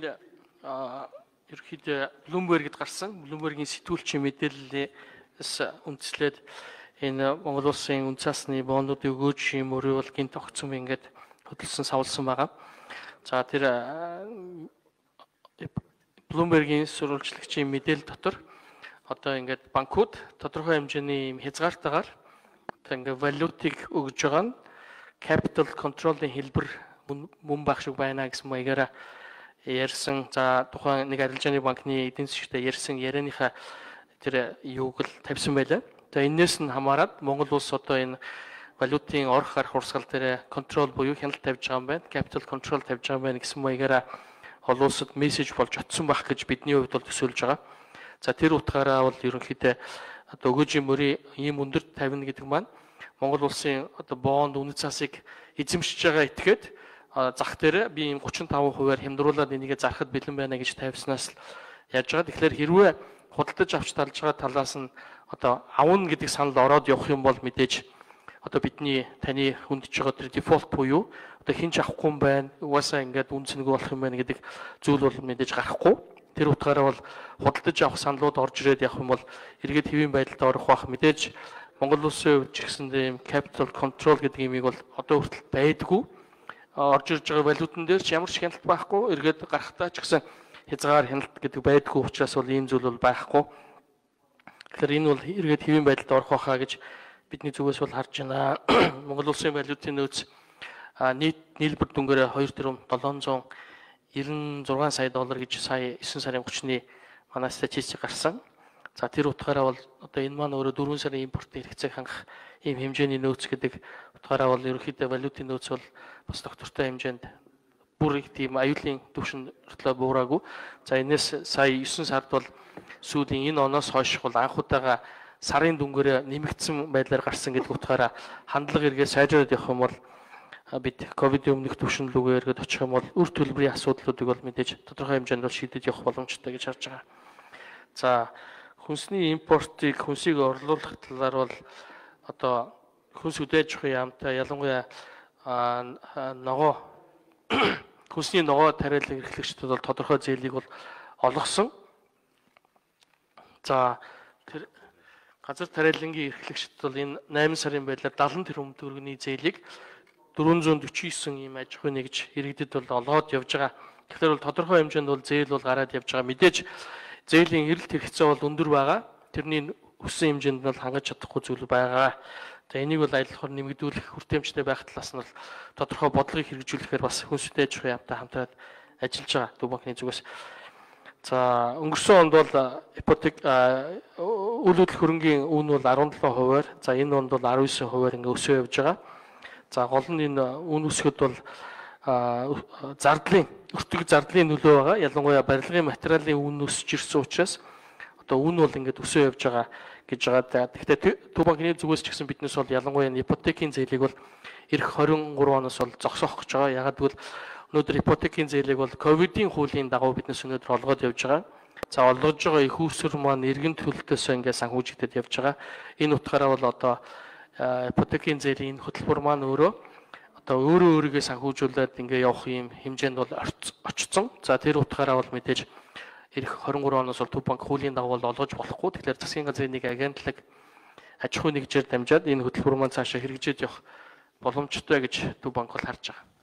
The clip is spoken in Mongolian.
ерөөхдөө Bloomberg-д гарсан Bloomberg-ийн сэтгүүлчийн мэдээллээс үндэслээд энэ Монгол улсын үн цасны боондуудын өгөөжийн мөрөө бол гинт огцом ингээд хөдөлсөн савлсан байгаа. За тэр Bloomberg-ийн сурвалжлагчийн мэдээлэл дотор одоо ингээд банкуд тодорхой хэмжээний хязгаартайгаар ингээд валютыг өгж байгаа нь capital control-ийн хэлбэр мөн байх шиг байна гэсэн маягаараа ярьсан. За тухайн нэг арилжааны банкны эдийн засгчтай ярьсан ярианыхаа тэр юуг л тавьсан байлаа. За энээс нь хамаарат Монгол улс одоо энэ валютын орох гарах урсгал дээр контрол буюу хяналт тавьж байгаа юм байна. Capital control тавьж байгаа юм байна гэсэн маягаараа олон улсад мессеж болж очсон байх гэж бидний хувьд бол төсөөлж байгаа. За тэр утгаараа бол ерөнхийдөө одоо өгөөжийн мөрийн ийм өндөр тавина гэдэг маань Монгол улсын одоо бонд үнэт цасыг эзэмшиж байгаа этгээд зах дээр би ийм 35%-аар хямдруулаад энийгээ зарахад бэлэн байна гэж тавьснаас л яаж байгаа. Тэгэхээр хэрвээ худалдаж авч талж байгаа талаас нь одоо авна гэдэг санал ороод явах юм бол мэдээж одоо бидний таны хүндж байгаа тэр дефолт буюу одоо хинч авахгүй юм байна. Угаасаа ингээд үнцэнгүй болох юм байна гэдэг зүйл бол мэдээж гарахгүй. Тэр утгаараа бол худалдаж авах саналууд орж ирээд явах юм бол эргээд хэвийн байдалд орох бах. Мэдээж Монгол улсын хувьд ч гэсэн ийм capital control гэдэг юмыг бол одоо хүртэл байдгүй. Орж ирж байгаа валютан дээр ч ямар ч хяналт байхгүй. Эргээд гарахтаа ч гэсэн хязгаар хяналт гэдэг байдгүй учраас бол ийм зүйл бол байхгүй. Тэгэхээр энэ бол эргээд хэвийн байдалд орох байхаа гэж бидний зүгээс бол харж байна. Монгол улсын валютын нөөц нийт нийлбэр дүнгээр 2,796 сая доллар гэж сая 9 сарын 30-ны манай статистик гарсан. За тэр утгаараа бол одоо энэ маань өөрөө 4 сарын импортын хэрэгцээг хангах ийм хэмжээний нөөц гэдэг утгаараа бол ерөнхийдөө валютын нөөц бол бас доктортой хэмжээнд бүр их тийм аюулын түвшин өртлөө буураагүй. За энэс сая 9 сард бол сүүлийн энэ оноос хойш бол анх удаага сарын дүнгээр нэмэгдсэн байдлаар гарсан гэдэг утгаараа хандлага эргээ сайжраад явах юм бол бид ковидын өмнөх түвшин рүүгээ эргээд очих юм бол үр төлбөрийн асуудлуудыг бол мэдээж тодорхой хэмжээнд бол шийдэж явах боломжтой гэж харж байгаа. За хүнсний импортыг хүнсийг орлуулах талаар бол одоо хүнс үдээж авах яамтай ялангуяа ногоо хүнсний ногоо тариалан эрхлэгчдүүд бол тодорхой зээлийг бол олгосон. За тэр газар тариалангийн эрхлэгчдүүд бол энэ 8 сарын байдлаар 70 тэрбум төгрөгийн зээлийг 449 ийм аж ахуйн нэгж иргэдэд бол олгоод явж байгаа. Тэгэхээр бол тодорхой хэмжээнд бол зээл бол гараад явж байгаа. Мэдээж зээлийн эрэлт хэрэгцээ бол өндөр байгаа. Тэрний өссөн хэмжээнд нь бол хангаж чадахгүй зүйл байгаа. За энийг бол аяллахаар нэмэгдүүлэх хүртээмжтэй байх талаас нь бол тодорхой бодлогыг хэрэгжүүлэхээр бас хүнстэй аж ахуйн яамтай хамтраад ажиллаж байгаа Төв банкны зүгээс. За өнгөрсөн онд бол ипотек үйл хөдлөх хөрөнгийн үн бол 17%-аар, за энэ онд бол 19%-аар ингээ өсөө явж байгаа. За гол нь энэ үн өсгөд бол зардлын өртөг зардлын нөлөө байгаа. Ялангуяа барилгын материалын үн өсөж ирсэн учраас одоо үн бол ингээд өсөө явж байгаа гэж байгаа. Гэхдээ Төв банкны зүгээс ч гэсэн биднээс бол ялангуяа ипотекийн зээлийг бол эх 23 оноос бол зогсоох гэж байгаа. Ягаад гэвэл өнөөдөр ипотекийн зээлийг бол ковидын хуулийн дагуу биднээс өнөөдөр олгоод явж байгаа. За олгож байгаа их үүсвэр маань эргэн төлөлтөөс ингээд санхүүжигдээд явж байгаа. Энэ утгаараа бол одоо ипотекийн зээлийн хөтөлбөр маань өөрөө өөрийгөө санхүүжүүлээд ингээ явах юм хэмжээнд бол очсон. За тэр утгаараа бол мэдээж эх 23 оноос бол Төв банк хуулийн дагуу олгож болохгүй. Тэгэхээр засгийн газрын нэг агентлаг аж ахуй нэгжээр дамжаад энэ хөтөлбөр маань цаашаа хэрэгжиж явах боломжтой гэж Төв банк бол харж байгаа.